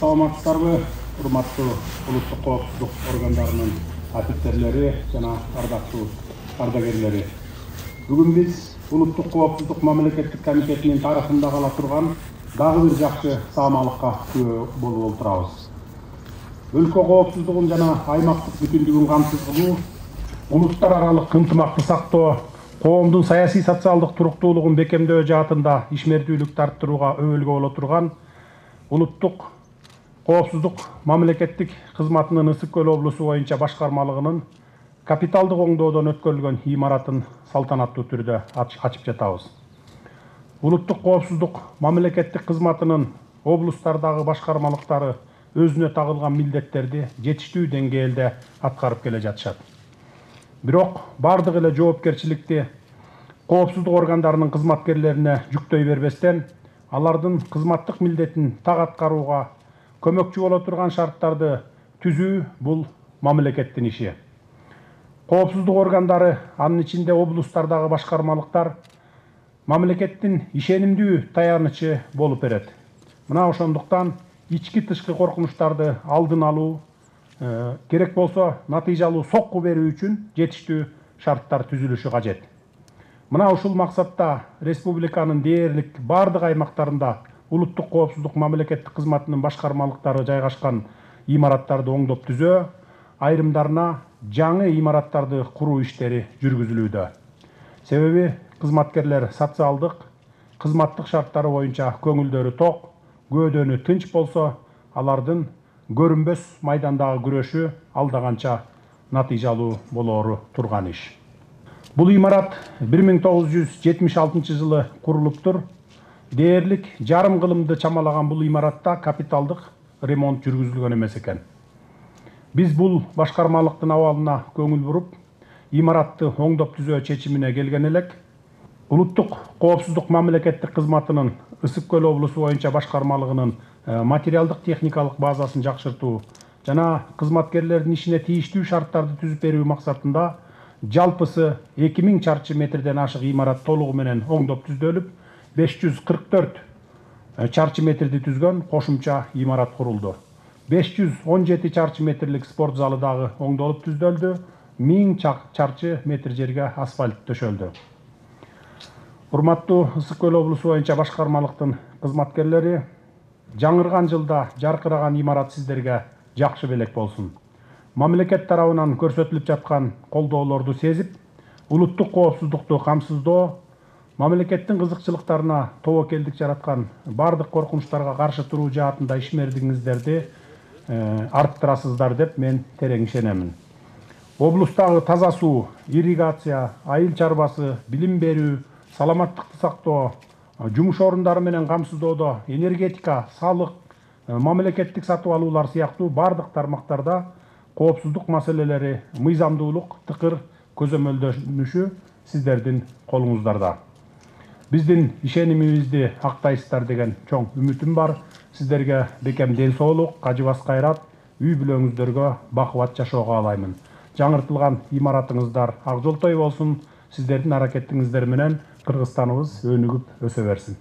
Саламатсыздарбы, урматтуу улуттук коопсуздук органдарынын офицерлери жана ардактуу ардагерлери. Бүгүн биз улуттук коопсуздук мамлекеттик комитетинин тарыхында кала турган дагы бир жакшы саамалыкка күбө болуп отурабыз. Өлкө коопсуздугун жана аймактык бүтүндүгүн камсыз кылуу, улуттар аралык ынтымакты сактоо, коомдун саясий социалдык туруктуулугун бекемдөө жаатында ишмердүүлүктү арттырууга өбөлгө боло турган улуттук коопсуздук мамлекеттик кызматынын Ысык Көл облусу боюнча башкармалыгынын капиталдык оңдоодон өткөрүлгөн имаратын салтанаттуу түрдө ачып жатабыз. Улуттук коопсуздук мамлекеттик кызматынын облустардагы башкармалыктары өзүнө тагылган милдеттерди жетиштүү деңгээлде аткарып келе жатышат. Бирок бардык эле жоопкерчиликти коопсуздук органдарынын кызматкерлерине жүктөй бербестен, алардын кызматтык милдетин так аткарууга көмөкчү боло турган шарттарды түзүү бул мамлекеттин иши. Коопсуздук органдары, анын ичинде облустардагы башкармалыктар мамлекеттин ишенимдүү таянычы болуп берет. Мына ошондуктан ички тышкы коркунучтарды алдын алуу, керек болсо натыйжалуу сокку берүү үчүн жетиштүү шарттар түзүлүшү кажет. Мына ушул максатта республиканын дээрлик бардык аймактарында улуттук коопсуздук мамлекеттик кызматынын башкармалыктары жайгашкан имараттарды оңдоп түзөө, айрымдарына жаңы имараттарды куруу иштери жүргүзүлүүдө. Себеби кызматкерлер социалдык, кызматтык шарттары боюнча көңүлдөрү ток, көөдөнү тынч болсо, алардын көрүнбөс майдандагы күрөшү алда канча натыйжалуу болоору турган иш. Бул имарат 1976 жылы курулуптур. Дээрлик жарым кылымды чамалаган бул имаратта капиталдык ремонт жүргүзүлгөн эмес экен. Биз бул башкармалыктын абалына көңүл буруп, имаратты оңдоп түзөө чечимине келген элек. Улуттук коопсуздук мамлекеттик кызматынын Ысык Көл облусу боюнча башкармалыгынын материалдык техникалык базасын жакшыртуу жана кызматкерлердин ишине тийиштүү шарттарды түзүп берүү максатында жалпысы 2000 чарчы метрден ашык имарат толугу менен оңдоп түздөлүп, 544 чарчы метрди түзгөн кошумча имарат курулду. 517 чарчы метрлик спорт залы дагы оңдолуп түздөлдү. 1000 чарчы метр жерге асфальт төшөлдү. Урматтуу Ысык Көл облусу боюнча башкармалыктын кызматкерлери, жаңырган жылда жаркыраган имарат сиздерге жакшы белек болсун. Мамлекет тарабынан көрсөтүлүп жаткан колдоолорду сезип, улуттук коопсуздукту камсыздоо, мамлекеттин кызыкчылыктарына тобокелдик жараткан бардык коркунучтарга каршы туруу жаатында ишмердигиңиздерди арттырасыздар деп мен терең ишенемин. Облустагы таза суу, ирригация, айыл чарбасы, билим берүү, саламаттыкты сактоо, жумуш орундары менен камсыздоодо энергетика, салык, мамлекеттик сатып алуулар сыяктуу бардык тармактарда коопсуздук маселелери мыйзамдуулук тыкыр көзөмөлдөнүшү сиздердин колуңуздарда. Биздин ишенимибизди актайсыздар деген чоң үмүтүм бар. Сиздерге бекем ден соолук, кажыбас кайрат, үй бүлөңүздөргө бакубат жашоо каалаймын. Жаңыртылган имаратыңыздар ак жолтой болсун. Сиздердин аракетиңиздер менен Кыргызстаныбыз өнүгүп өсө берсин.